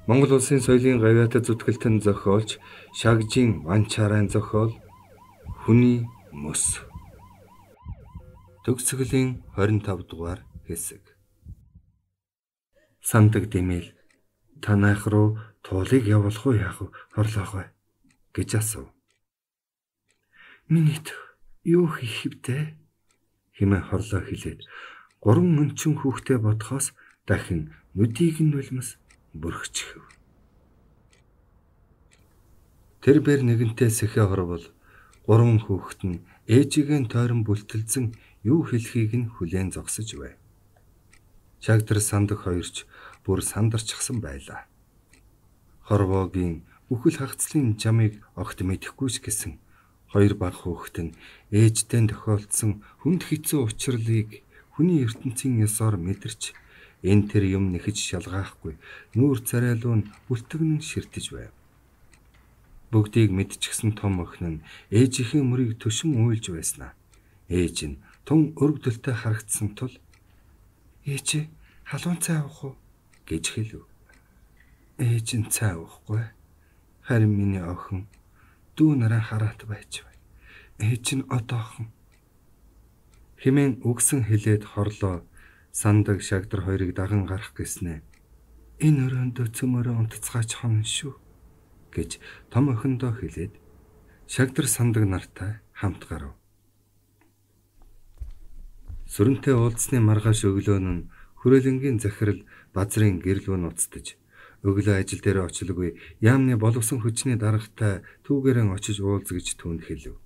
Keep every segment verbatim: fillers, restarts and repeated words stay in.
Монгол улсын соёлын гавьяатад зүтгэлтэн зохиолч Шагжин Ванчарайн зохиол Хүний мөс. Төгсгөлийн хорин тав дугаар хэсэг. Сандаг димэл танайх руу туулыг явуулах уу яах вэ? Хорлоох вэ гэж асуув. Минийт юу хийх вдэ? Хэмээн хорлоо хэлээд гурван өнчин хүүхдээ бодхоос дахин нүдийг нь нулимс бүрхчихв. Тэр бэр нэгэнтээ сэхэ хорвол гурван хүүхэд нь ээжигээ тойрон бүлтэлзэн юу хэлхийг нь хүлээн зогсож байв. Шагдар сандаг хоёрч бүр сандарчихсан байлаа. Хорвоогийн үхэл хагцлын жамыг огт мэдэхгүй ч гэсэн хоёр бага хүүхэд нь ээжтэй тохиолдсон хүнд хэцүү учрлыг хүний ертөнцийн ёсоор мэдэрч энэ тэр юм нэхэж шалгаахгүй нүүр царайлуу нь бүлтгэн ширтэж байв. Бүгдийг мэдчихсэн том охин нь ээжийнхээ мөрийг төшин уйлж байснаа. Ээж нь тун өргөдөлтөй харагдсан тул "Ээж халуун цай уух уу?" гэж хэлв. Ээж нь цай уухгүй. Харин миний охин дүү нараа хараат байж бай. Ээж нь одоохон хэмээн үгсэн хэлээд хорлоо сандаг шагдар хоёрыг даган гарах гэснээ. Энэ өрөөндөө цөмөрөө унтцгаач хон шүү гэж том охиндоо хэлээд шагдар сандаг нартай хамт гарав. Сүрэнтэй уулзсны маргааш өглөө нь хүрээлэнгийн захирал базрын гэрэл рүү нуцтаж өглөө ажил дээр очлоггүй яамны боловсон хүчний даргатай түүгээрэн очиж уулз гэж түүнд хэлв.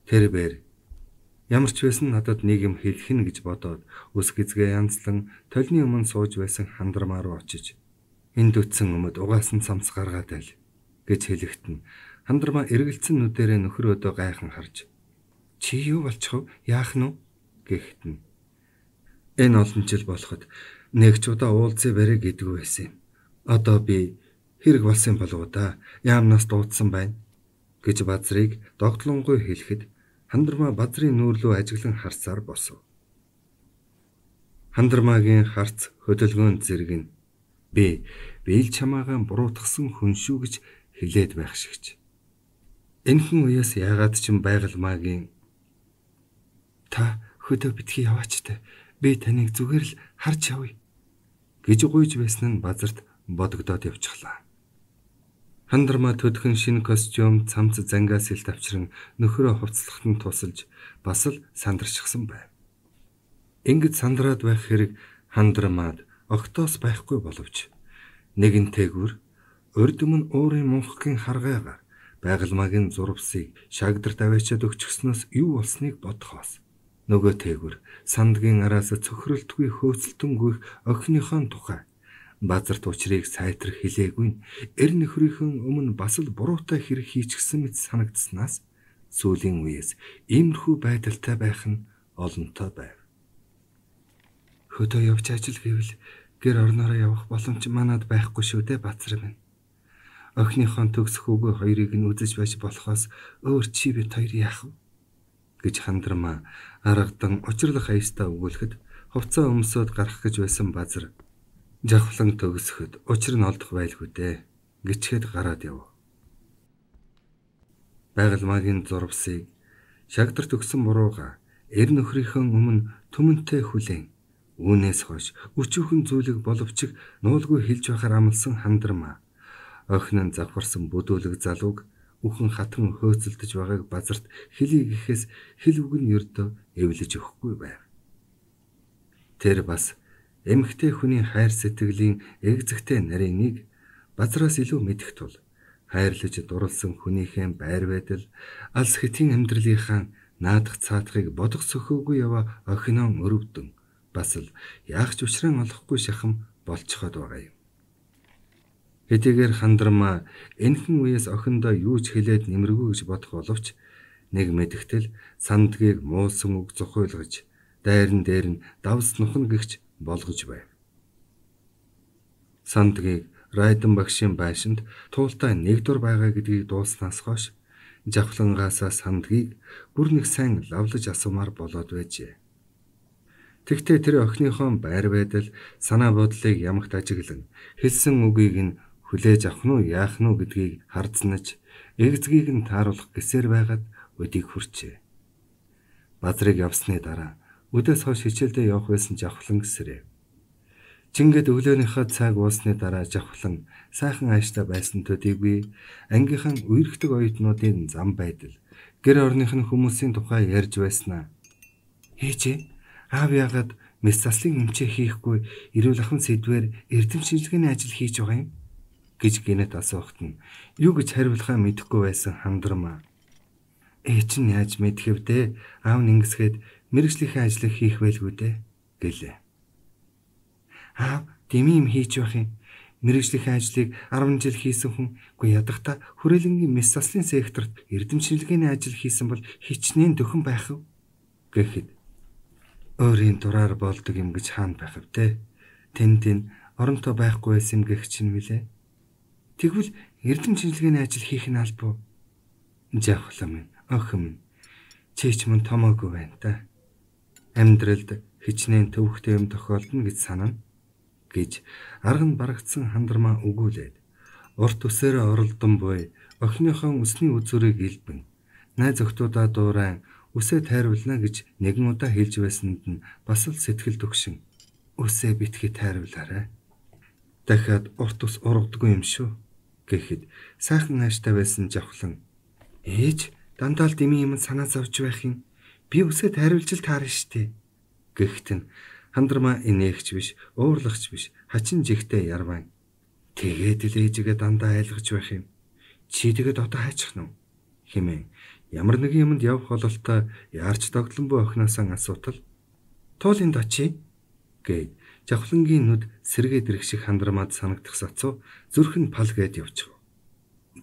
Тэр бэр ямар ч байсан надад нэг юм хэлэх нь гэж бодоод ус гизгээ янзлан толны өмнө сууж байсан хандармаа руу очиж энд үтсэн өмд угаасан цамц гаргаад айл гэж хэлэхэд нь хандармаа эргэлцэн нүдэрээ нөхөр өдөө гайхан харж чи юу болчихв яах нь гэхэд нь энэ олон жил болоход нэг ч удаа уулзъя барэ гэдгүй байсан юм. Одоо би хэрэг болсон болов уу да яамнаас дуудсан байна гэж базрыг догтлонгой хэлэхэд хандармаа базрын нүүрлүү ажиглан харсаар босов. Хандармаагийн харц хөдөлгөөн зэрэг нь би бийл чамаагаа буруутгасан хүн шүү гэж хэлээд байх шигч. Энэхэн үеэс яагаад ч юм байгалмаагийн та хөдөө битгий яваачтай би таныг зүгээр л харж явъя гэж гуйж байсан нь базарт бодогдоод явчихлаа. Хандармаа төдхөн шинэ костюм цамц зангаас ил тавчран нөхрөө хувцлахад нь тусалж бас л сандарчихсан байв. Ингэж сандраад байх хэрэг хандармаад огтоос байхгүй боловч нэгэнтэйгүр урд өмнө уурын мунхгийн харгайгаар байгалмаагийн зурвсыг шагдарт аваачаад өгчихснөөс юу болсныг бодхоос нөгөө тээгүр сандгийн араас цөхрөлтгүй хөөцөлтөн гүйх охиныхон тухай базарт учрыг сайтар хэлээгүй эр нөхрийнхэн өмнө бас л буруутай хэрэг хийчихсэн мэт санагдсанаас сүүлийн үеэс иймэрхүү байдалтай байх нь олонтой байв. Хөдөө явж ажил гэвэл гэр орноороо явах боломж манад байхгүй шүү дээ базар минь. Охиныхон төгсөх үгүй хоёрыг нь үзэж байж болохоос өөр чи бит хоёр яах вэ гэж хандармаа аргадан учрлах аястаа өгүүлэхэд хувцас өмсөд гарах гэж байсан базар жавхлан төгсөхөд учир нь олдох байлгүй дээ гिचхэд гараад яв. Байгалмаагийн зурвсыг шагдар төгсөн бурууга эр нөхрийнхөө өмнө түмэнтэй хүлээн үүнээс хойш өчүүхэн зүйлэг боловч нуулгүй хэлж байхаар амлсан хандармаа охин нь завхарсан бүдүүлэг залууг үхэн хатан хөөцөлдөж байгааг базарт хэлий гэхээс хэл үг нь ердөө эвлэж өгөхгүй байв. Тэр бас эмэгтэй хүний хайр сэтгэлийн эгзэгтэй нарийныг базраас илүү мэдэх тул хайрлаж дурлсан хүнийхээ байр байдал алс хэтийн амьдралынхаа наадах цаатахыг бодох сөхөөгүй яваа охиноо өрөвдөн бас л яах ч учраа олохгүй шахам болцоход байгаа юм. Хэдийгээр хандармаа энэхэн үеэс охиндоо юу ч хэлээд нэмэргүй гэж бодох боловч нэг мэдгтэл сандгийг муулсан үг зохиолгож дайран дээр нь давс нухна гихч болгож байв. Сандгийг Райдан багшийн байшинд туултай нэг дур байгаа гэдгийг дуулснаас хойш жавхлангаасаа сандгийг бүр нэг сайн лавлаж асуумаар болоод байжээ. Тэгтээ тэр охиныхон байр байдал, санаа бодлыг ямагт ажиглан хэлсэн үгийг нь хүлээж авах нь яах нь гэдгийг хардснаж эгзгийг нь тааруулах гэсээр байгаад өдийг хүрчээ. Базрыг явсны дараа өдөөс хойш хичээлдээ явах байсан Жавхлан гэсрээ. Чингэд өглөөнийхөө цаг уусны дараа Жавхлан сайхан ааштай байсан төдийгүй ангийнхан үерхдэг оюутнуудын зам байдал, гэр орных нь хүмүүсийн тухай ярьж байснаа. Ээжээ, аав яагаад мэс заслын эмчээ хийхгүй эрүүл ахуйн сэдвээр эрдэм шинжилгээний ажил хийж байгаа юм гэж гинэт асуухт нь юу гэж хариулахаа мэдэхгүй байсан Хандармаа. Ээ чинь яаж мэдхэв дээ? Аав нэгсгээд мэрэгжлийн ажлыг хийх байлгүй дээ гэлээ. Аав дэмий юм хийж байх юм. Мэргэжлийн ажлыг арван жил хийсэн хүн үгүй ядахта хүрээлэнгийн мэс заслын секторт эрдэм шинжилгээний ажил хийсэн бол хичнээн дөхөн байх вэ гэхэд өөрийн дураар болдог юм гэж хаана байх вэ? Тэн тэн оронтой байхгүй байсан юм гэх чинь мөлий. Тэгвэл эрдэм шинжилгээний ажил хийх нь албагүй. Жавхлан минь, охин минь, чи ч мөн томоогүй байна та. Амьдралд хичнээн төвөгтэй юм тохиолдно гэж санана гэж арга нь барагдсан Хандармаа өгүүлээд урт үсээрээ оролдон буй охиныхон үсний үзүүрийг илбэн найз охтуудаа дуурайн үсээ тайруулна гэж нэгэн удаа хэлж байсанд нь бас л сэтгэл төгшин үсээ битгий тайруулаарай. Дахиад урт ус ургадгүй юм шүү гэхэд сайхан ааштай байсан Жавхлан ээж дандаа л дэмий юм санаа зовж байх юм. Би үсээ тайруулж л таарна штэ гэхэд нь Хандармаа инээгч биш, уурлагч биш, хачин жигтэй ярван. Тэгээд л ээжигээ дандаа айлгаж байх юм. Чи тэгээд одоо хайчих нь хэмээн ямар нэгэн юмд явах бололтой яарч догтлон буй охиноосаа асуутал туулынд очие гэд Жавхлангийн нүд сэргээд ирэх шиг Хандармаад санагдах сацуу зүрх нь пал гээд явчих.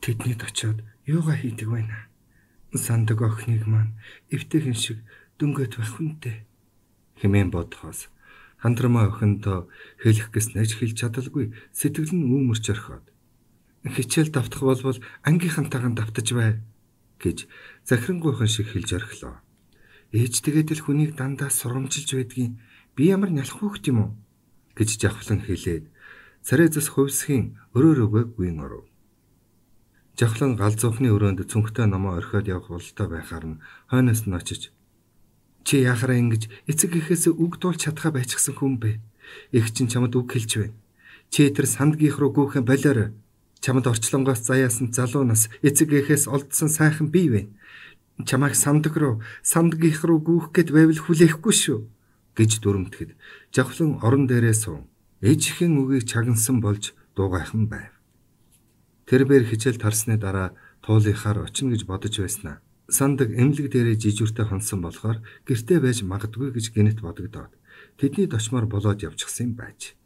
Тэднийд очиод юугаа хийдэг байна? Сандаг охиныг маань эвтэйхэн шиг дөнгөт байх хүнтэй хэмээн бодхоос Хандармаа охиндоо хэлэх гэс нэж хэлж чадалгүй сэтгэл нь үүмэрч орхиод хичээл давтах болбол ангийнхантайгаа давтаж бай гэж захирингуйхан шиг хэлж орхилоо. Ээж тэгээд л хүнийг дандаа сурамжилж байдгийн би ямар нялх хөөхт юм уу гэж Жавхлан хэлээд царайзас хувьсхийн өрөөр өгөө гүйн оров. Жавхлан галзуухны өрөөнд цүнхтэй номоо орхиод явах бололтой байхаар нь хойноос нь очиж чи яхараа ингэж эцэг эхээс үг дуулж чадхаа байчихсан хүн бэ? Их чинь чамд үг хэлж байна. Чи тэр сандгийнх руу гүйхэн болоор чамд орчлонгоос заяасан залуу нас эцэг эхээс олдсон сайхан бий вэ? Чамайг сандаг руу сандгийнх руу гүйх гээд байвал хүлээхгүй шүү гэж дүрмтгэд Жавхлан орон дээрээ суун ээжийн үгийг чагнасан болж дуугайхан байв. Тэр бээр хичээл тарсны дараа туулынхаар очино гэж бодож байснаа. Сандаг эмнэлэг дээрээ жижүүртэй хонсон болохоор гэртээ байж магадгүй гэж гинэт бодогдоод тэдний дочмоор болоод явчихсан юм байж.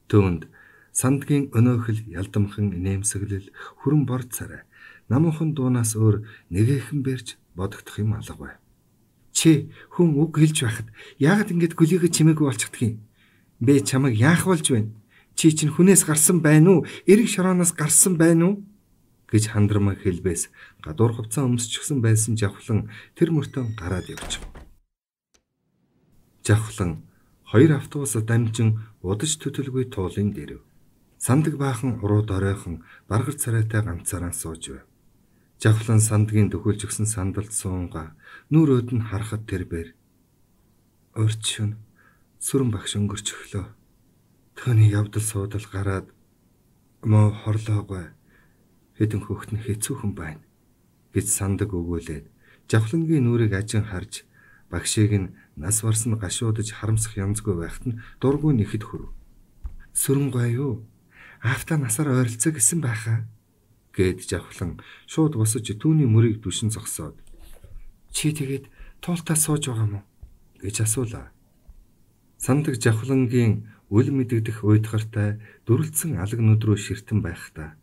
Түүнд сандгийн өнөөхөл ялдамхан инээмсэглэл хүрэн бор царай намуухан дуунаас өөр нэгэхэн бэрж бодогдох юм алга бай. Чи хүн үг хэлж байхад яагаад ингэж гөлийгө чимээгүй болчихдгийг бэ? Чамайг яах болж байна? Чи чинь хүнээс гарсан байна уу? Эрэг шорооноос гарсан байна уу? гэж Хандармаа хэлбээс гадуур хувцас өмсчихсэн байсан Жавхлан тэр мөртөө гараад явчих. Жавхлан хоёр автобусад дамжин удаж төтөлгүй туулын дэрв. Сандаг баахан урууд оройхон баргар царайтай ганцаараа сууж байв. Жавхлан сандгийн дөхөлж өгсөн сандалд суунгаа нүрөөд нь харахад тэрбээр урьд шөнө сүрэн багш өнгөрч өглөө. Төвний явдал суудал гараад муу хорлоогой хэдэн хөхт нь хэцүүхэн байна гэж сандаг өгөөлээд Жавхлангийн нүрийг ажин харж багшийг нь нас барсан гашуудаж харамсах янзгүй байхад нь дургүй нэхэд хүрв. Сүрэн гоё юу? Аавтаа насаар ойролцоо гэсэн байхаа гэд Жавхлан шууд босож түүний мөрийг дүшин зогсоод чи тэгээд туултаа сууж байгаа мó гэж асуулаа. Сандаг Жавхлангийн үл мэдэгдэх уйдгартай дүрлцэн алаг нүд рүү ширтэн байхдаа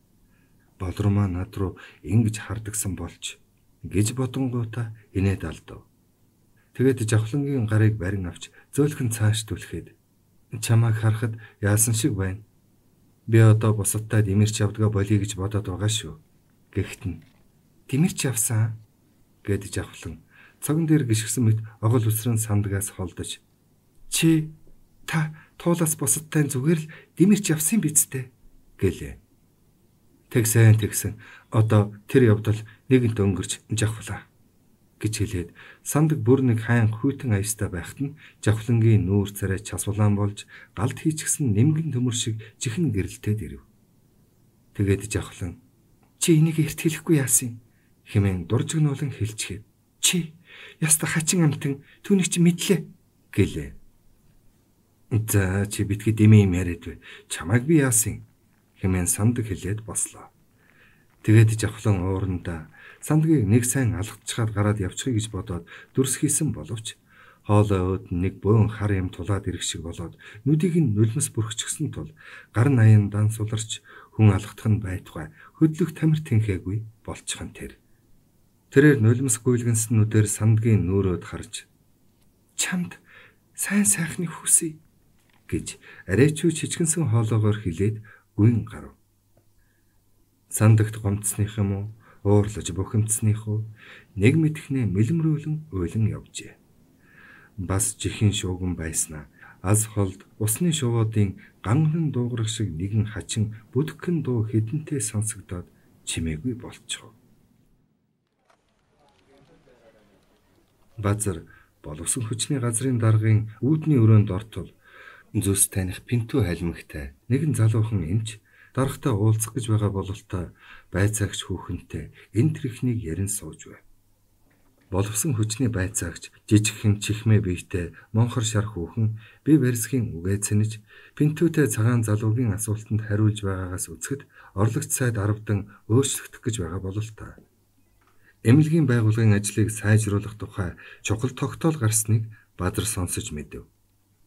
болромоо над руу ингэж хардагсан болж гэж бодонгуудаа инээд алдав. Тэгээд Жавхлангийн гарыг барин авч зөөлхөн цааш түлхээд чамайг харахад яасан шиг байна. Би одоо босоттой димэрч явдгаа болъё гэж бодоод байгаа шүү. Гэхдээ нь димэрч явсан гэд Жавхлан цогон дээр гიშгсэн мэт огол үсрэн сандгаас холдож Чи та туулаас бусадтай зүгээр л дэмэрч явсан биз дээ гэлээ. Тэгсэн тэгсэн одоо тэр явдал нэгэнт өнгөрч жавхлаа гэж хэлээд сандаг бүр нэг хайн хүйтэн аястай байхад нь жавхлангийн нүүр царай час улаан болж галд хийчихсэн нэмгэн төмөр шиг чихэн гэрэлтээд ирэв. Тэгээд жавхлан чи энийг эрт хэлэхгүй яасан хэмээн дуржигнуулан хэлчихээ. Чи яста хачин амтан түүнийг чи мэдлээ гэлээ. За чи битгий дэмээ юм яриад бай. Чамайг би яасан хэмээн сандаг хэлээд бослоо. Тэгээд жавхлан уурандаа сандгийг нэг сайн алгацчаад гараад явчихъя гэж бодоод дүрс хийсэн боловч хоолой өөд нэг бөөн хар юм тулаад ирэх шиг болоод нүдийг нь нулимс бүрхчихсэн тул гар наян дан суларч хүн алгадах нь байтугай хөдлөх тамир тэнхээгүй болчихон тэр. Тэрээр нулимс гүйлгэнснүүдээр сандгийн нүүрөөд харж чамд сайн сайхны хүсье гэж арайчуу чичгэнсэн хоолоогоор хэлээд гүн гарав. Сандагт гомцсных юм уу, уурлаж бухимдсных уу, нэг мэдхнээ мэлмрүүлэн уйлан явжээ. Бас жихэн шууган байснаа аз холд усны шувуудын ганган дуугарах шиг нэгэн хачин бүдгхэн дуу хэдэнтэй сонсогдоод чимээгүй болчихов. Базар боловсон хүчний газрын даргын үүдний өрөөнд ортол зүс таних пинтүү халимагтай нэгэн залуухан эмч дарагтай уулзах гэж байгаа бололтой байцаагч хүүхэнтэй энэ тэрхнийг ярин сууж байв. Боловсон хүчний байцаагч жижигхэн чихмээ биетэй монхор шар хүүхэн бие барьсхийн үгээ цэнэж пинтүүтэй цагаан залуугийн асуултанд хариулж байгаагаас үзэхэд орлогч сайд арвдан өөрчлөгдөх гэж байгаа бололтой. Эмнэлгийн байгууллагын ажлыг сайжруулах тухай чухал тогтоол гарсныг Бадар сонсож мэдэв.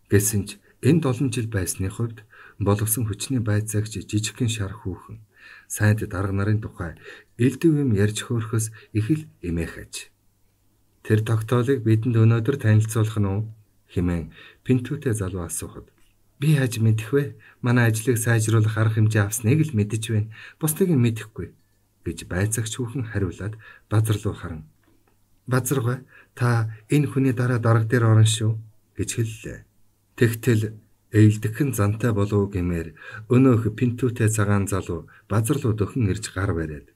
Гэсэн ч энэ долоон жил байсны хувьд боловсон хүчний байцаагч жижигхэн шар хүүхэн сайд дарга нарын тухай элдэв юм ярьж хөөрөхөөс их л эмээх аж. Тэр тогтоолыг бидэнд өнөөдөр танилцуулах нь уу хэмээн пинтүүтэй залуу асуухад би яаж мэдэх вэ? Манай ажлыг сайжруулах арга хэмжээ авсныг л мэдэж байна. Бусдыг нь мэдэхгүй гэж байцаагч хүүхэн хариулаад Базар руу харан Базаргаа та энэ хүний дараа дарга дээр орно шүү гэж хэллээ. Тэгтэл эйлдэхэн зантай болов гэмээр өнөөх пинтүүтэй цагаан залуу Базар руу дөхөн ирж гар бариад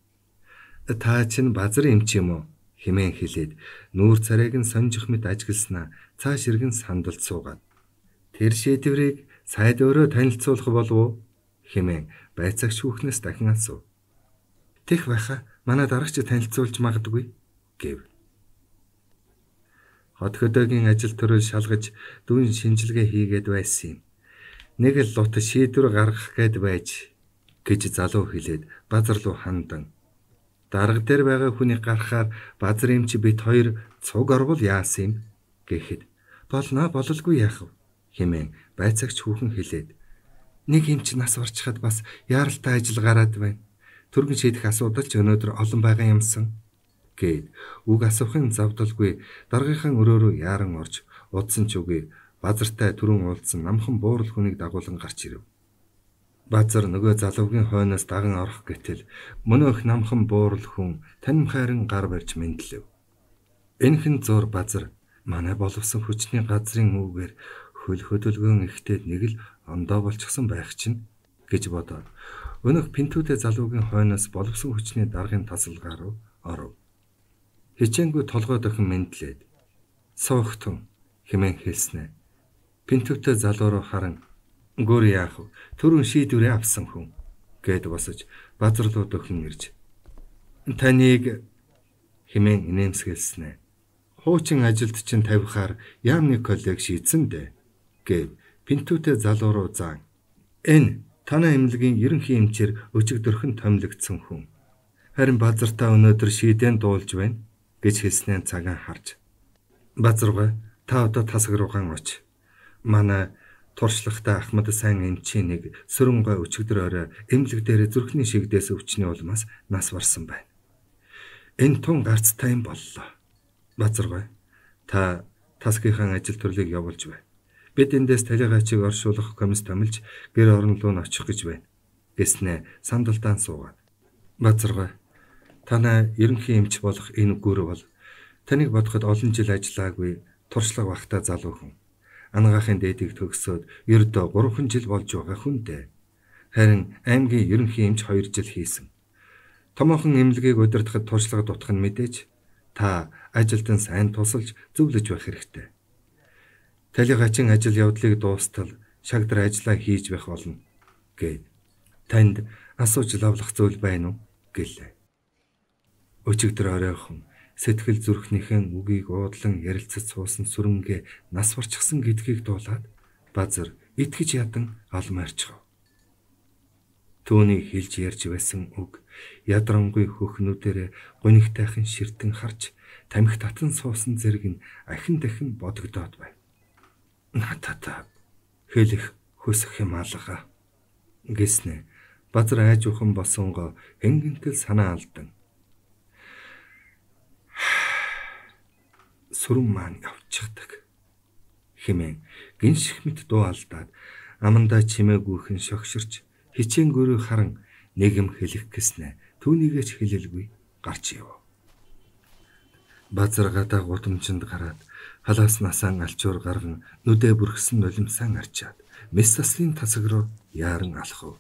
та чинь Базар юм чи юм уу хэмээн хэлээд нүүр царайг нь сонжих мэт ажигласнаа цааш иргэн сандалд суугаад тэр шийдвэрийг сайд өөрөө танилцуулах болов уу хэмээн байцаагч хүүхнээс дахин асуув. Тех байха манай дарагч танилцуулж магадгүй гэв. Хот хөдөөгийн ажил төрөл шалгаж дүүн шинжилгээ хийгээд байсан юм. Нэг л лут шийдвэр гаргах гээд байж гэж залуу хэлээд Базар руу хандан. Дарга дээр байгаа хүнийг гаргахаар Базар эмч бит хоёр цуг орвол яасан юм гэхэд болно бололгүй яах вэ хэмээн байцаагч хүүхэн хэлээд нэг эмч нас орчихад бас яаралтай ажил гараад байна. Түргэн шийдэх асуудал ч өнөөдөр олон байгаа юмсан гээд үг асуухын завдалгүй даргийнхаа өрөөрөө яаран орж удсан ч үгүй Базартай түрүүн уулзсан намхан буурал хүнийг дагуулan гарч ирэв. Базар нөгөө залуугийн хойноос даган орох гэтэл мөнөөх намхан буурал хүн танимхайран гар барьж мэдлэв. Энэхэн зур Базар манай боловсон хүчний газрын үүгээр хөл хөдөлгөөн ихтэй нэг л ондоо болчихсон байх чинь гэж бодоод өнөөх пинтүүтэй залуугийн хойноос боловсон хүчний даргын тасалгаа руу оров. Хичээнгүй толгой дохин мэдлээд суугтун хэмээн хэлснэ. Пинтүүтэй залуу руу харан гөр яах вэ? Түрүүн шийдвэрээ авсан хүн гэд босож Базар руу дөхөн ирж таныг хэмээн инээмсэглэснэ. Хуучин ажилд чинь тавихаар яамны коллег шийдсэн дээ гэв пинтүүтэй залуу руу заан. Энэ танай эмнэлгийн ерөнхий эмчээр өчигдөрхөн томилогдсон хүн. Харин Базартаа өнөөдөр шийдэн дуулж байна гэж хэлснээр цагаан харж. Базаргаа та одоо тасаг руугаан оч. Манай туршлагатай Ахмад сайн эмчийн нэг сөрөн гой өчигдөр орой эмнэлэг дээр зүрхний шигдээс өвчний улмаас нас барсан байна. Энэ тун гарцтай юм боллоо. Базаргаа та тасгийнхаа ажил төрлийг явуулж бай. Бид эндээс талигачиг оршуулах комисс томилж гэр орон руу очих гэж байна гэснээ сандалдаан суугаад. Базаргаа танай ерөнхий эмч болох энэ гүр бол таныг бодоход олон жил ажиллаагүй туршлага багтаа залуу хүн. Ангаахын дээдийг төгсөөд ердөө гурван жил болж байгаа хүнтэй. Харин аймгийн ерөнхий эмч хоёр жил хийсэн. Томоохон эмнэлгийг удирдахад туршлага дутах нь мэдээж та ажилтан сайн тусалж зөвлөж байх хэрэгтэй. Талигаачин ажил явдлыг дуустал шагдар ажиллаа хийж байх болно гэд танд асууж лавлах зүйл байна уу гэлээ. Өчигдөр оройхон сэтгэл зүрхнийхэн үгийг уудлан ярилцаж суусан сүрэнгээ нас барчихсан гэдгийг дуулаад Базар итгэж ядан алмаарчав. Түүний хэлж ярьж байсан үг ядрангүй хөхнүүдээр гунигтайхан ширтэн харж тамхи татан суусан зэрэг нь ахин дахин бодогдоод байв. Натата хэлэх хүсэх юм алга гэснэ. Базар айжуухан босонгоо хэнгэнтэл санаа алдан. Сүрэн маань явчихдаг хэмээн гинших мэт дуу алдаад амандаа чимээгүйхэн шогширч хичээнгөрөө харан нэгэм хэлэх гэснэ. Түүнийгээч хэлэлгүй гарч яв. Базар гадаа гудамжинд гараад халаас насаан алчуур гарган нүдэ бүрхсэн нулимсаан арчаад мэс таслын тасаг руу яаран алхав.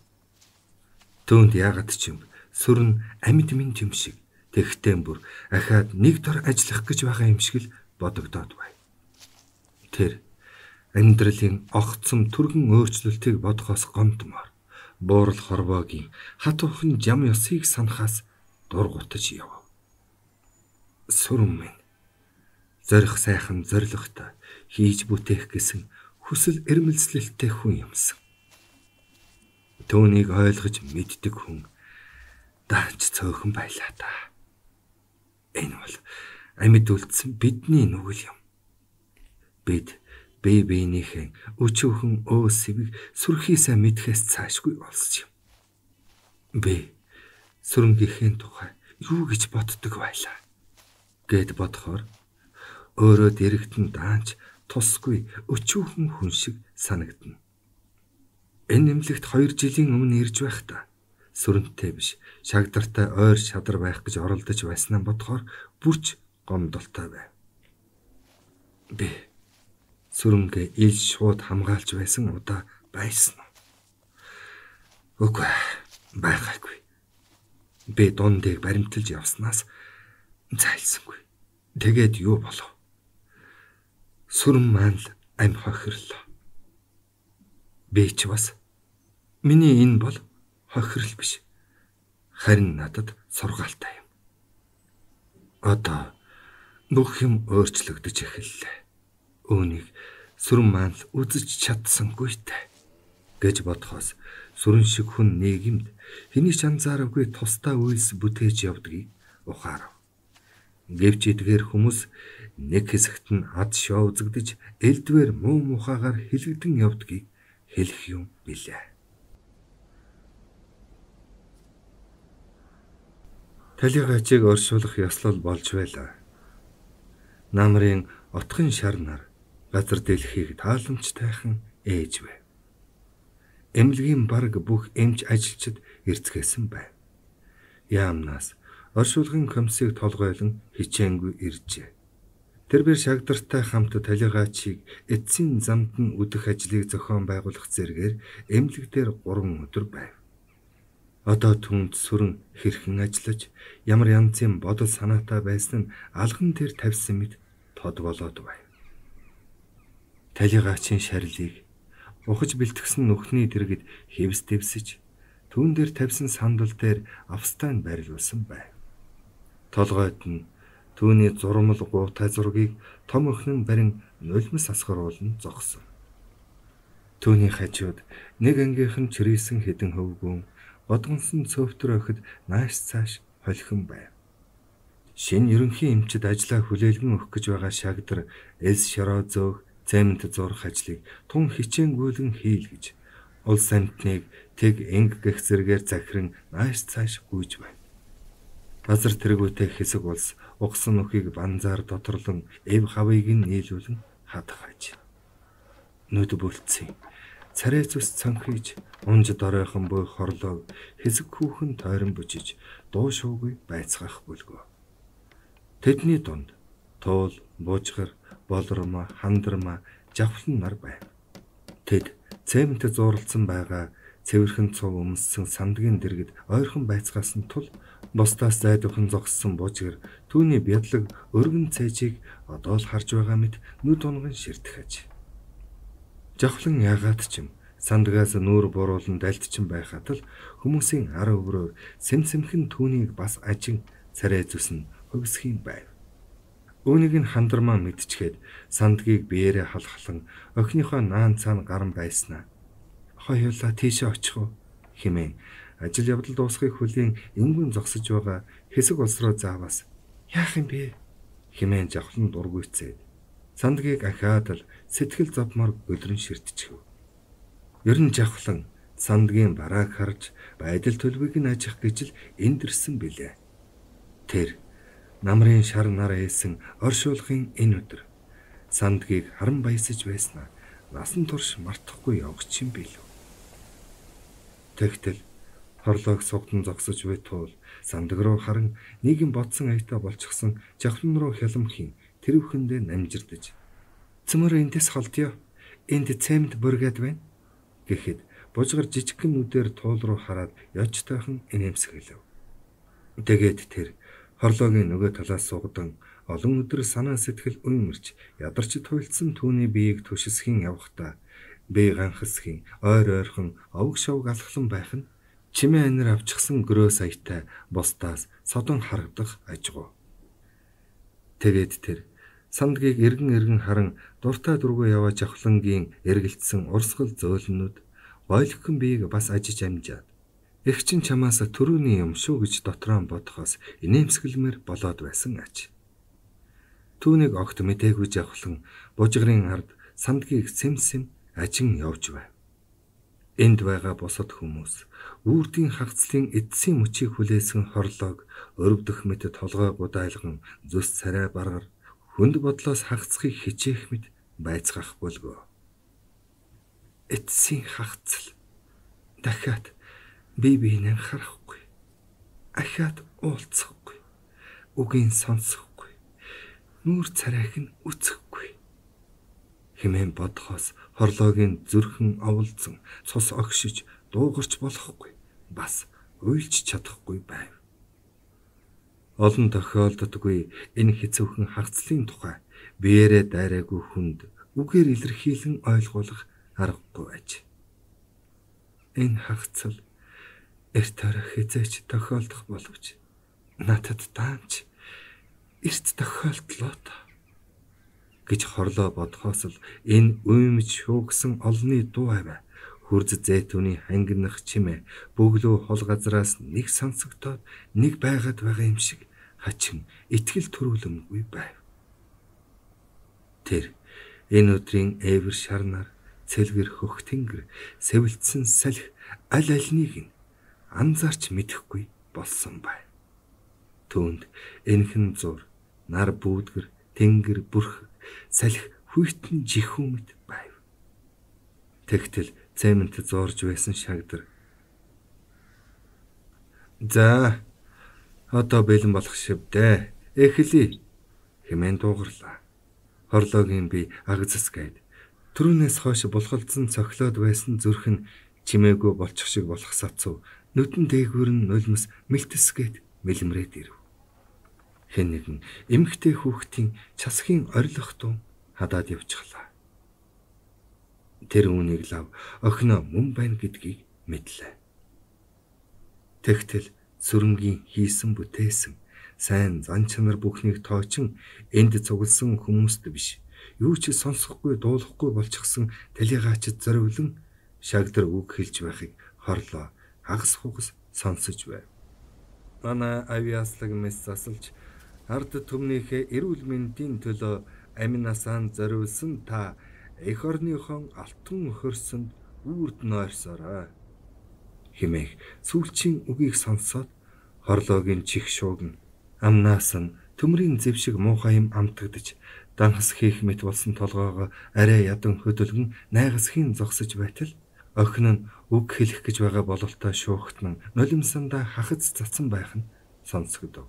Түүнд яагаад ч юм сүрэн амьд минь юм шиг тэгтэн бүр ахаад нэг дор ажиллах гэж байгаа юм шиг л бодогдоод байв. Тэр амьдралын огцом түргэн өөрчлөлтийг бодохоос гомдмоор буурал хорвоогийн хатуухан жам ёсыг санахаас дургутаж яв. Сүрэн минь зорих сайхан зоригтой хийж бүтээх гэсэн хүсэл эрмэлзлэлтэй хүн юмсан. Түүнийг ойлгож мэддэг хүн даач цөөхөн байлаа та. Энэ бол амьд үлдсэн бидний нүгэл юм. Бид бие биенийхээ өчүүхэн өө сэвийг сүрхийсээ мэдхээс цаашгүй болсон юм. Би сүрэнгийнхээ тухай юу гэж боддог байлаа гэд бодохоор өөрөө дэрэгтэн даанч тусгүй өчүүхэн хүн шиг санагдана. Энэ нэмлэгт хоёр жилийн өмнө ирж байхдаа сүрэнтэй биш шагдартай ойр шадар байх гэж оролдож байснаа бодохоор бүрч гомдолтой байв. Би сүрэнгээ ил шууд хамгаалж байсан удаа байсан. Үгүй байгаагүй. Би дундыг баримталж явснаас зайлсангүй. Тэгээд юу болов? Сүрэн маань л ам хохирлоо. Би ч бас миний энэ бол хохирол биш. Харин надад сургаалтай юм. Одоо бүх юм өөрчлөгдөж эхэллээ. Үүнийг сүрэн маань л үзэж чадсангүйтэй гэж бодохоос сүрэн шиг хүн нийгэмд хэний ч анзаараагүй тусдаа үйлс бүтээж явдгийг ухаарав. Гэвч эдгээр хүмүүс нэг хэсэгт нь ад шоу үзэгдэж элдвэр муу мухагаар хилэгдэн явдгийг хэлэх юм билээ. Талигачийг оршуулах ёслол болж байлаа. Намрын отхон шар нар газар дэлхийг тааламжтайхан ээж байв. Эмнэлгийн бараг бүх эмч ажилчид эрцгээсэн байв. Яамнаас оршуулгын комиссийг толгойлон хичээнгүй иржээ. Тэр бэр шагдартай хамт талигачийг эцсийн замд нь үдэх ажлыг зохион байгуулах зэргээр эмнэлэг дээр гурван өдөр байв. Одоо түнд сүрэн хэрхэн ажиллаж ямар янзын бодол санаатай байсан нь алган дээр тавьсан мэт тод болоод байв. Талигачийн шарилыг ухаж бэлтгэсэн нүхний дэргэд хэвс дэвсэж түүн дээр тавьсан сандал дээр австайн байрлуулсан байв. Толгойд нь түүний зурмал гуутай зургийг том өхнөн барин нулимс асгаруулн зогсон. Түүний хажууд нэг ангийнхан чирээсэн хэдэн хөвгүүн годгонсон цөвтөр охид нааш цааш холихон байв. Шинэ ерөнхий эмчид ажлаа хүлээлгэн өгөх гэж байгаа шагдар элс шороо зөөх цемент зурх ажлыг тун хичээнгүйлэн хийл гэж улс амьтныг тэг энг гэх зэргээр захиран нааш цааш гүйж байв. Базар тэргүүтэй хэсэг улс угсан нөхийг банзаар доторлон эв хавыг нь нийлүүлэн хадгаж. Нүд бүлцсэн. Царай зүс цанхиж унж доройхон буй хорлоо хэсэг хүүхэн тойрон бужиж дуу шуугүй байцгаах бүлгөө. Тэдний дунд туул, буужгар, болорма, хандарма, жавхлан нар байв. Тэд цемэнтэд зууралдсан байгаа цэвэрхэн цуг өмссөн сандгийн дэргэд ойрхон байцгаасан тул бусдаас зайдуухан зогссон буужгэр түүний бядлаг өргөн цайжийг одоо л харж байгаа мэт нүд унган ширтгэж. Жавхлан яагаад ч юм сандгаас нүүр буруулан дальдчин байхад л хүмүүсийн ар өврөөр сэмсэмхэн түүнийг бас ажин царай зүсэн хөвсхийн байв. Үүнийг нь хандармаа мэдчихэд сандгийг биеэрээ халахлан охиныхоо наан цаана гарan байснаа. Хоёулаа тийшээ очих уу хэмээн ажил явдал дуусахыг хүлийн энгүн зогсож байгаа хэсэг улс руу заавас яах юм бэ хэмээн жавхлан дургүйцээд сандгийг ахаад л сэтгэл зовмоор өдрөн ширтчихв. Ер нь жавхлан сандгийн барааг харж байдал төлөвийг нь ажих гэж л эндэрсэн билээ. Тэр намрын шар нар ээсэн оршуулгын энэ өдөр сандгийг харан баясаж байснаа насан турш мартахгүй явж юм билүү. Тэгтэл хорлойг сугдан зогсож буй тул сандаг руу харан нийгэм бодсон аятаа болчихсон жавхлан руу хялмхийн тэрвхэндээ намжирдаж "Цөмөр эндээс холдё. Энд цемент бүргээд байна" гэхэд бужгар жижигхэн нүдээр туул руу хараад яж тайхан инээмсэглэв. Тэгээд тэр хорлойгийн нөгөө талаас сугдан олон өдөр санаа сэтгэл уймарч ядарч туйлдсан түүний биеийг түшисхийн явхдаа бие ганхасхийн ойр ойрхон овг шовг алхлан байх нь чимээ анир авчихсан гөрөө саятай бусдаас содон харагдах ажгүй. Тэгээд тэр сандгийг эргэн эргэн харан дуртай дургүй яваа жавхлангийн эргэлдсэн урсгал зөөлнүүд гойлохын биеийг бас ажиж амжаад "Эх чин чамаас төрөний юм шүү" гэж дотроо бодохоос инээмсэглэмээр болоод байсан аж. Түүнийг огт мэдээгүй жавхлан бужгарын ард сандгийг сэмсэм ажин явж байв. Энд байгаа бусад хүмүүс үрдийн хагцлын эдсийн мөчийг хүлээсэн хорлойг өрөвдөх мэт толгой гудайлган зүс царай баргар хүнд бодлоос хагцхыг хичээх мэт байцгаах болгоо. Эдсийн хагцл дахиад бие биенээ харахгүй, ахиад уулзахгүй, үгийн сонсохгүй, нүүр царайг нь үзэхгүй хэмээн бодохоос хорлойгийн зүрхэн оволцсон цус огшиж дуугарч болохгүй, бас уйлж чадахгүй байв. Олон тохиолддоггүй энэ хэцүүхэн хагцлын тухай биеэрээ дайраагүй хүнд үгээр илэрхийлэн ойлгуулах аргагүй байж. Энэ хагцл эрт орой хязээч тохиолдох боловч надад даанч эрт тохиолдлоо та гэж хорлоо бодхоос л энэ уймж шуугсан олны дуу аваа хурц зэйтүний хангинах чимээ бөглөө хол газраас нэг сонсогдоод нэг байгаад байгаа юм шиг хачин итгэл төрүүлэмгүй байв. Тэр энэ өдрийн эвэр шарнаар цэлгэр хөх тэнгэр сэвэлцсэн салхи аль альнийг нь анзаарч мэдэхгүй болсон байв. Түүнд энхэн зур нар бүүдгэр тэнгэр бүрх салхи хүйтэн жихүүмэд байв. Тэгтэл цемент зуурж байсан шагдар "За одоо бэлэн болох шивдэ. Эхлэе" хэмээн дуугарлаа. Хорлойгийн би агзасгээд түрүүнээс хойш булхалдсан цохилоод байсан зүрх нь чимээгүй болчих шиг болох сацв нүдэн дээгүүр нь нулимс мэлтэсгээд мэлмрээд ирв. Хэн нэгэн эмхтэй хүүхдийн часхийн орилох дуу хадаад явчихлаа. Тэр үүнийг лав охиноо мөн байна гэдгийг мэдлээ. Тэгтэл сүрэнгийн хийсэн бүтээсэн сайн зан чанар бүхнийг тоочин энд цугласан хүмүүст биш юу ч сонсохгүй дуулахгүй болчихсон талигаач зориулан шагдар үг хэлж байхыг хорлоо хагас хугас сонсож байв. Манай авиаслаг мэс засалж ард түмнийхээ эрүүл мэндийн төлөө амин насаан зориулсан та эх орныхон алтан өхөрсөнд үрд нойрсорой хэмээх сүүлчийн үгийг сонсоод хорлоогийн чих шуугн амнаас нь төмрийн зэв шиг муухай юм амтагдж данхас хийх мэт болсон толгоогоо арай ядан хөдөлгөн найгасхийн зогсож байтал охин нь үг хэлэх гэж байгаа бололтой шуухтан нулимсандаа хахац цацсан байх нь сонсогдов.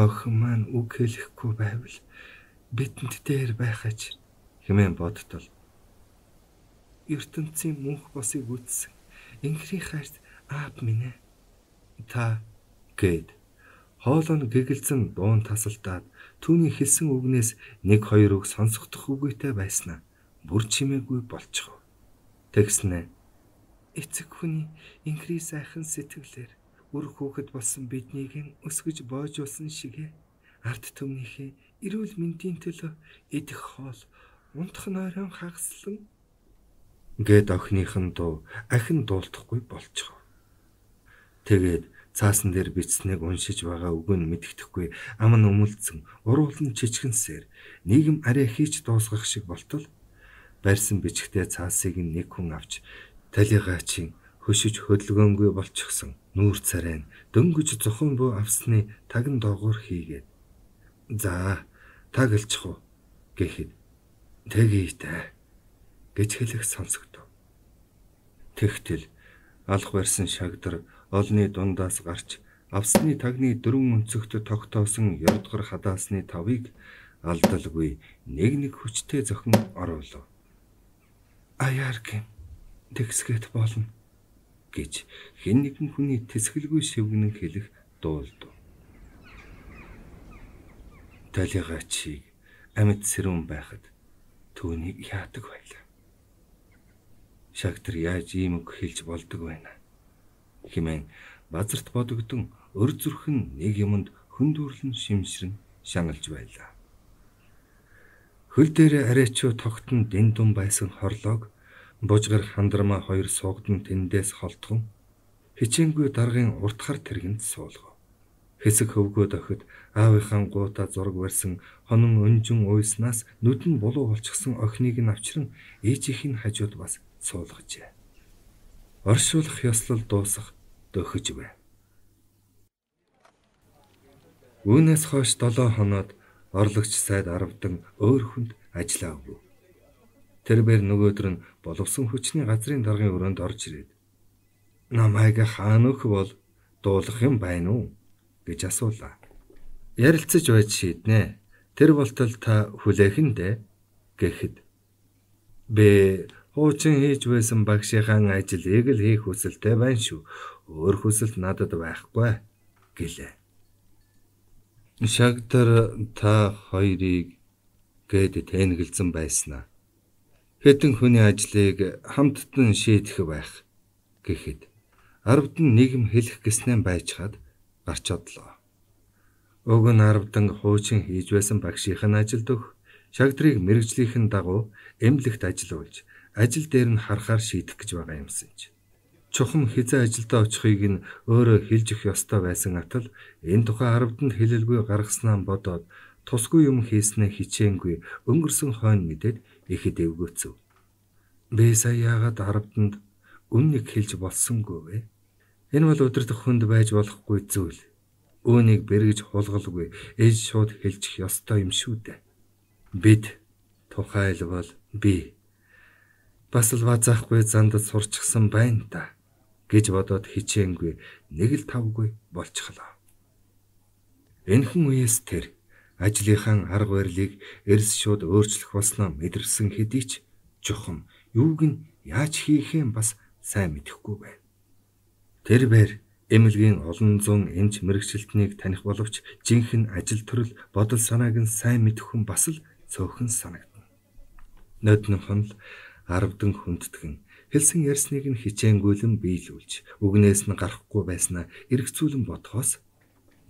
Охин маань үг хэлэхгүй байвал бидэнд дээр байхаж хэмээн бодтол ертөнцийн мөнх босыг үтсэн инхрийн хайрт аав минь ээ та гэд хоолой нь гэгэлзэн дуун тасалдаад түүний хэлсэн үгнээс нэг хоёр үг сонсохдох үгүйтэй байснаа бүр чимээгүй болчихов. Тэгснэ эцэг хүний инхрий сайхан сэтгэлээр үр хүүхэд болсон биднийг өсгөж боожуулсан шигэ ард түмнийхээ эрүүл мэндийн төлөө идэх хоол унтах нойрон хагаслан гэд охиныхон дуу ахин дуулдахгүй болчихов. Тэгээд цаасан дээр бичснийг уншиж байгаа үг нь мэддэхгүй ам нь өмөлдсөн уруулан чичгэнсээр нийгэм арай хийж дуусгах шиг болтол барьсан бичгтээ цаасыг нэг хүн авч талигаачийн хөшиж хөдөлгөөнгүй болчихсон нүүр царай нь дөнгөж зохон буу авсны тагн доогуур хийгээд за тагалчих уу гэхэд тэгээтэй гэж хэлэх сонсогдов. Тэгтэл алх барьсан шагдар олны дундаас гарч авсны тагны дөрвөн өнцөгт тогтоосон ярдгар хадаасны тавыг алдалгүй нэг нэг хүчтэй зохин оруулав. Аяаргийн тэгсгэт болно гэж хэн нэгэн хүний тэсгэлгүй шивгэнэн хэлэх дуулдав. Талигаачийг амьд сэрүүн байхад түүнийг яадаг байлаа. Шагдар яаж ийм үг хэлж болдог байна хэмээн базарт бодогдсон өр зүрхэн нэг юмд хөндөөрлөн шимшрэн шаналж байлаа. Хөл дээр арайчуу тогтон дэндүн байсан хорлоог бужгар хандрама хоёр суугдан тэндээс холтгон хичээнгүй даргын уртхар тэргэнд суулгав. Хэсэг хөвгөө дохид аавынхаа гуута зураг барьсан хонон өнжин уйснаас нүд нь булуу болчихсон охиныг нь авчран ээжийнх нь хажууд бас суулгажээ. Оршуулах ёслол дуусах дөхөж байв. Үүнээс хойш долоо хоноод орлогч сайд аравдан өөр хүнд ажиллаа өгөв. Тэр бэр нөгөөдөр нь боловсон хүчний газрын даргын өрөөнд орж ирээд намайг хаана өгөх бол дуулах юм байна уу гэж асуулаа. Ярилцаж байж шийднэ. Тэр болтол та хүлээхэндэ гэхэд бэ хуучин хийж байсан багшийнхаа ажлыг л хийх хүсэлтэй байна шүү. Өөр хүсэл надад байхгүй гэлээ. Шагдар та хоёрыг гээд тэнэгэлзэн байснаа. Хэдэн хүний ажлыг хамттан шийдэх байх гэхэд аравдан нийгэм хэлэх гэснээр байжхад гарч одлоо. Уг нь аравдан хуучин хийж байсан багшийнх нь ажилд өгөх, шагдрыг мэрэгжлийнхэн дагуу эмнэлэгт ажиллуулж ажил дээр нь харахаар шийдэх гэж байгаа юмсан ч. Чухам хизээ ажилдаа очихыг нь өөрөө хэлж өгөх ёстой байсан атал энэ тухай аравданд хэлэлгүй гаргаснаа бодоод тусгүй юм хийснээ хичээнгүй өнгөрсөн хойно мэдээд ихэд эвгөөцөв. Би сая яагаад аравданд үннийг хэлж болсонгүй вэ? Энэ бол удирдах хүнд байж болохгүй зүйл. Үүнийг бэргэж хулгалгүй ээж шууд хэлчих ёстой юм шүү дээ. Бид тухайлбал би бас л базаахгүй зандад сурчсан байна та гэж бодоод хичээнгүй нэг л тавгүй болчихлоо. Энэхэн үеэс тэр ажлынхаа арга барилыг эрс шууд өөрчлөх болсноо мэдэрсэн хэдий ч чухам юуг нь яаж хийхээ бас сайн мэдэхгүй байна. Тэр бэр эмнэлгийн олон зуун эмч мэрэгчлэлтнийг таних боловч жинхэнэ ажил төрөл бодол санааг нь сайн мэдэх хүн бас л цөөхөн санагдана. Ноднох нь л аравдан хүндэтгэн хэлсэн ярьсныг нь хичээнгүйлэн биелүүлж үгнээс нь гарахгүй байснаа эргцүүлэн бодхоос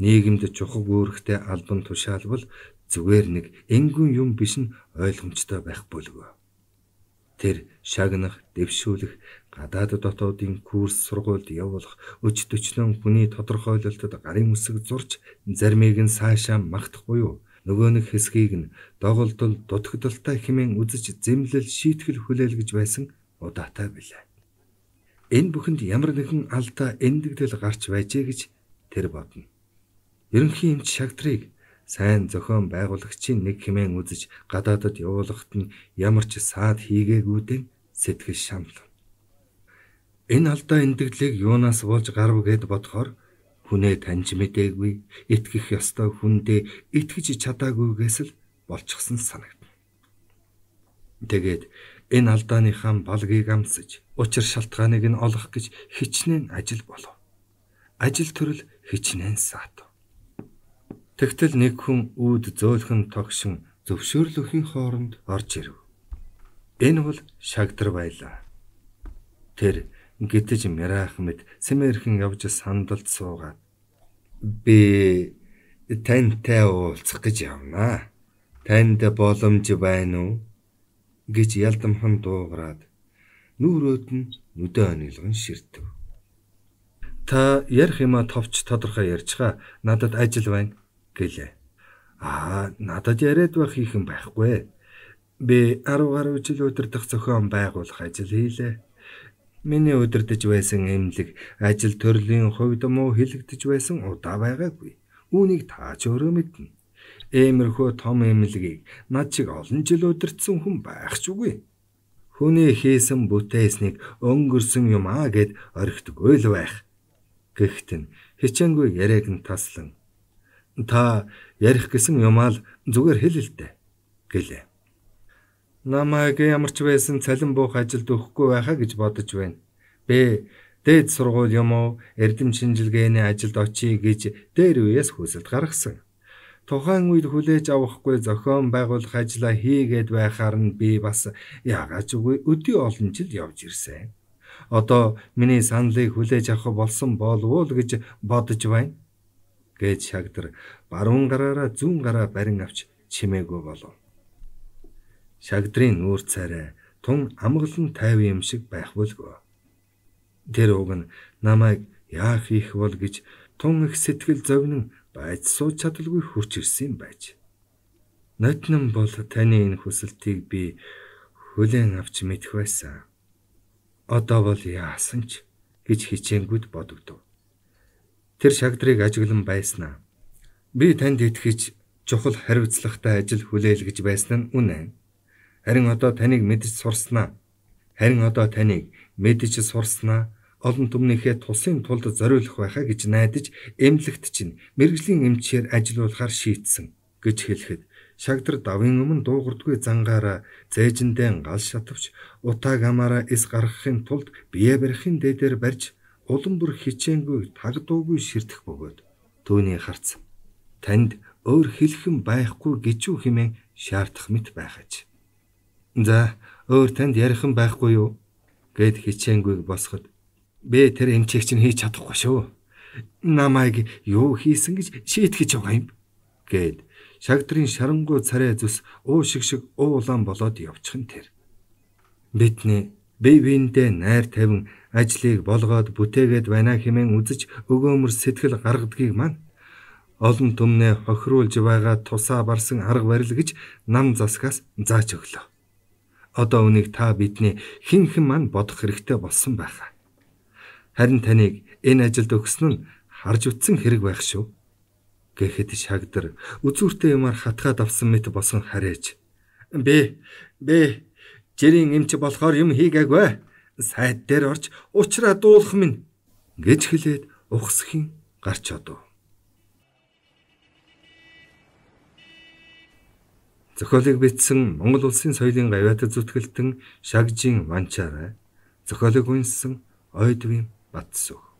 нийгэмд чухал үүрэгтэй албан тушаалбал зүгээр нэг энгүн юм биш нь ойлгомжтой байх болов. Тэр шагнах, дэвшүүлэх, гадаад дотоодын курс сургуульд явуулах, өч төчнөн хүний тодорхойлолтод гарын үсэг зурж зармийг нь цаашаа магтах буюу нөгөө нэг хэсгийг нь доголдол дутагдaltaй хэмээн үзэж зэмлэл шийтгэл хүлээлгэж байсан удаатай билээ. Энэ бүхэнд ямар нэгэн алдаа эндэгдэл гарч байжээ гэж тэр бодно. Ерөнхий эмч шагдрыг сайн зохион байгуулагчийн нэг хэмээн үзэж гадаадад явуулахад нь ямар ч саад хийгээгүүдэн сэтгэл шаналв. Энэ алдаа эндэгдлийг юунаас болж гарв гэд бодохоор хүнээ таньж мэдээгүй, итгэх ёстой хүндээ итгэж чадаагүйгээс л болчихсон санагдана. Тэгээд энэ алдааныхаа балгийг амсаж, учир шалтгааныг нь олох гэж хичнээн ажил болов. Ажил төрөл хичнээн саатав. Тэгтэл нэг хүн үүд зөөлхөн тогшин зөвшөөрлөхийн хооронд орж ирэв. Энэ бол Шагдар байлаа. Тэр гитэж мярах мэд сэмэрхэн явж сандалд суугаад би тантай уулзах гэж явнаа. Танд боломж байна уу? Гэж ялдамхан дуугараад нүүрөөд нь нүдэ онилгон ширтэв. Та ярих юма товч тодорхой ярьчгаа надад ажил байна гэлээ. Аа, надад яриад байх хийхэн байхгүй. Би арав гаруй жил удирдах зохион байгуулах ажил хийлээ. Миний удирдах байсан эмнэлэг ажил төрлийн хувьд муу хилэгдэж байсан удаа байгаагүй. Үүнийг та ч өөрөө мэднэ. Иймэрхүү том эмнэлгийг над шиг олон жил удирдсан хүн байх ч үгүй. Хүний хийсэн бүтээснийг өнгөрсөн юм аа гэд орхидгүй л байх. Гэхдээ нь хичээнгүй яриаг нь таслан та ярих гэсэн юмаа л зүгээр хэл л дээ гэлээ. Намайг ямар ч байсан цалин буух ажилд өгөхгүй байхаа гэж бодож байна. Би дээд сургууль юм уу эрдэм шинжилгээний ажилд очие гэж дээр үеэс хүсэлт гаргасан. Тухайн үед хүлээж авахгүй зохион байгуулах ажлаа хийгээд байхаар нь би бас яагаад ч үгүй өдөө олон жил явж ирсэн. Одоо миний саналыг хүлээж авах болсон болов уу гэж бодож байна. Гэж Шагдар баруун гараараа зүүн гараа барин авч чимээгүй болов. Шагдрын нүүр царай тун амгалан тайв юм шиг байх болгүй. Тэр уг нь намайг яах их бол гэж тун их сэтгэл зовнин байж сууж чадалгүй хурч ирсэн байж. Нотнон бол таны энэ хүсэлтийг би хүлээн авч мэдэх байсан. Одоо бол яасан ч гэж хичээнгүйд бодогдов. Тэр Шагдрыг ажиглан байснаа. Би танд итгэж чухал хариуцлагатай ажил хүлээл гэж байсан нь үнэн. Харин одоо таныг мэдж сурснаа. Харин одоо таныг мэдж сурснаа. Олон түмнийхээ тусын тулд зориулах байхаа гэж найдаж эмнэлэгт чинь мэргэжлийн эмчээр ажиллуулахар шийтсэн гэж хэлэхэд Шагдар давын өмнө дуугардгүй зангаараа зээжиндээ гал шатавч утааг амаараа эс гаргахын тулд бие барихын дээдээр барьж улам бүр хичээнгүй таг дуугүй ширтэх бөгөөд түүний харц танд өөр хэлхэн байхгүй гэж үү хэмээн шаардах мэт байхаж. За өөр танд ярихан байхгүй юу гэд хичээнгүй босоход би тэр эмчийг чинь хийж чадахгүй шүү. Намайг юу хийсэн гэж шийтгэж байгаа юм гэд Шагдрын шарангуй царай зүс уу шиг шиг уулан болоод явчихын тэр. Бидний бие биендээ найр тавин ажлыг болгоод бүтээгээд байна хэмээн үзэж өгөөмөр сэтгэл гаргадгийг маань олон түмнээ хохируулж байгаа тусаа барсан арга барил гэж нам засгаас зааж өглөө. Одоо үнийг та бидний хинхэн маань бодох хэрэгтэй болсон байхаа. Харин таныг энэ ажилд өгсөн нь харж утсан хэрэг байх шүү. Гэхэд Шагдар үзүүртэй юмар хатгаад авсан мэт босон харээж. Би би жирийн эмч болохоор юм хийгээгүй. Сайд дээр орж уучраа дуулах минь гэж хэлээд ухсхийн гарч одов. Зохиолыг бичсэн Монгол Улсын соёлын гавьяатад зүтгэлтэн Шагжин Ванчаарай. Зохиолыг үнэлсэн Ойдвин Батсүх.